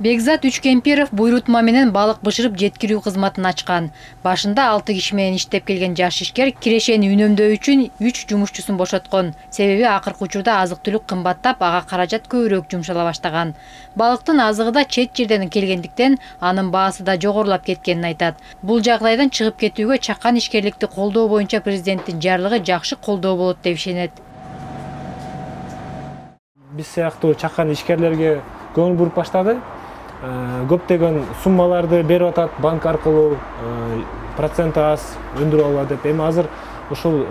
Бекзат Үчкемпиров буйрутма менен балык бышырып жеткирүү кызматын ачкан. Башында 6 киши менен иштеп келген жаш ишкер кирешени үнөмдөө үчүн 3 жумушчусун бошоткон. Себеби акыркы учурда азык-түлүк кымбаттап, ага каражат көбүрөөк жумшала баштаган. Балыктын азыгы да чет жерден келгендиктен анын баасы да жогорулап кеткенин айтат. Бул жагдайдан чыгып кетүүгө чакан ишкерликти колдоо боюнча президенттин жарлыгы жакшы колдоо болот деп ишенет. Биз сыяктуу чакан ишкерлерге көңүл буруп баштады. Көптөгөн суммаларды берип атат банк аркылуу, проценти аз өндүрүп алат деп. Эми азыр ушул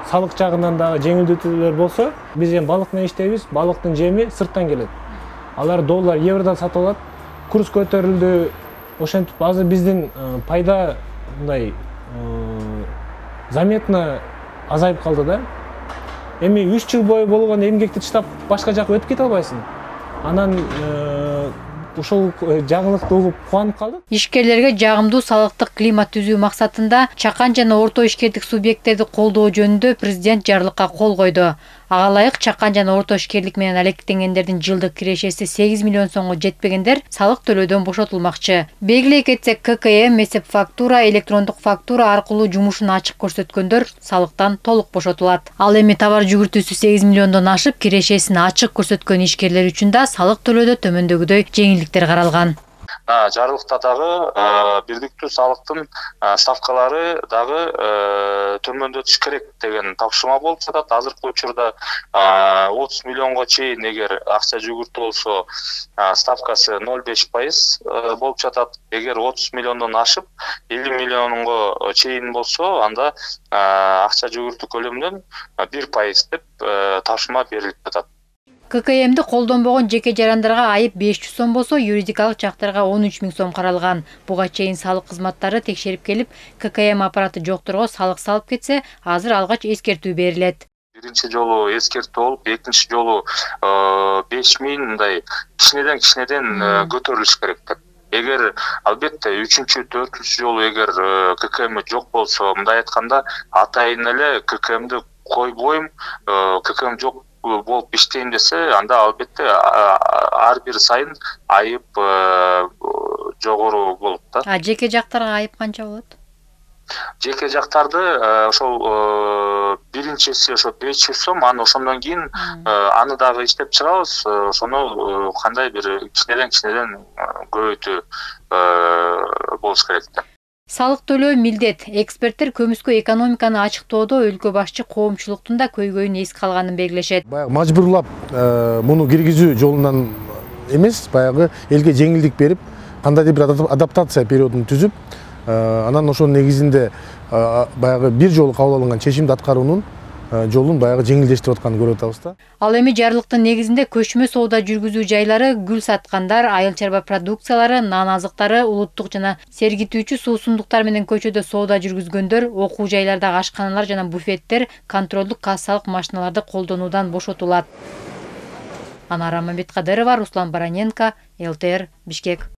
салык жагынан дагы жеңилдетүүлөр болсо, биз эми балык менен иштейбиз, балыктын жеми сырттан келет. Алар доллар, евродан сатып алат. Курс көтөрүлдү. Ошентип азыр биздин пайда мындай заметно азайып калды да. Эми 3 жыл бою болгон эмгекти таштап башка жака өтүп кете албайсың. Анан ушул жаңылыкты угуп кубанып калдык. Ишкерлерге жагымдуу салыктык климат түзүү максатында чакан жана орто ишкердик субъекттерди колдоо жөнүндө президент жарлыкка кол койду. Ага ылайык чакан жана орто ишкерлик менен алектенгендердин жылдык кирешеси 8 миллион сомго жетпегендер салык төлөөдөн бошотулмакчы. Белгилей кетсек, ККМ эсеп фактура, электрондук фактура аркылуу жумушун ачык көрсөткөндөр салыктан толук бошотулат. Ал эми товар жүгүртүүсү 8 миллиондон ашып, кирешесин ачык көрсөткөн ишкерлер үчүн да салык төлөөдө төмөндөгүдөй жеңилдиктер каралган. Жарлыкта дагы бирдиктүү салыктын ставкалары дагы төмөндөтүш керек деген тапшырма болуп жатат. Азыркы учурда 30 миллионго чейин эгер акча жүгүртүү болсо, ставкасы 0,5% болуп жатат. Эгер 30 миллиондон ашып 50 миллионго чейин болсо, анда акча жүгүртүү көлөмүнөн 1% деп тапшырма берилип жатат. ККМди колдонбогон жеке жарандарга айып 500 сом болсо, юридикалык жактарга 13 000 сом каралган. Буга чейин салык кызматтары текшерип келип, ККМ аппараты жокторго салык салып кетсе, азыр алгач эскертүү берилет. Биринчи жолу эскертүү болуп, экинчи жолу 5000 мындай кичинеден көтөрүлүш керек деп. Эгер албетте 3-чү, 4-чү жолу эгер ККМ жок болсо, мындай айтканда, атайын эле ККМди койбойм, ККМ жок болуп иштейм десе, анда албетте ар бир сайын айып жогору болот да. Жеке жактарга айып канча болот? Жеке жактарды ошол биринчиси ошо 500 сом, аны ошондон кийин аны дагы иштеп чыгабыз, ошону кандай бир кичинеден көбөйтүү болуш керек да. Салык төлөө милдет. Эксперттер көмүскө экономиканы ачыктоодо өлкө башчы коомчулуктун да көйгөйүн эске алганын белгилешет. Баягы мажбурлап муну киргизүү жолунан эмес, баягы элге жеңилдик берип, кандайдыр бир адаптация периодун түзүп, анан ошонун негизинде баягы бир жолу кабыл алынган чечимди аткаруунун жолун баягы жеңилдештирип атканын көрүп атабыз да. Ал эми жарлыктын негизинде көчмө соода жүргүзүү жайлары, гүл саткандар, айыл чарба продукциялары, нан азыктары, улуттук жана сергитүүчү суусундуктар менен көчөдө соода жүргүзгөндөр, окуу жайлардагы ашканалар жана буфеттер контролдук кассалык машиналарды колдонуудан бошотулат. Анара Мамбеткадырова, Руслан Бараненко, ЛТР, Бишкек.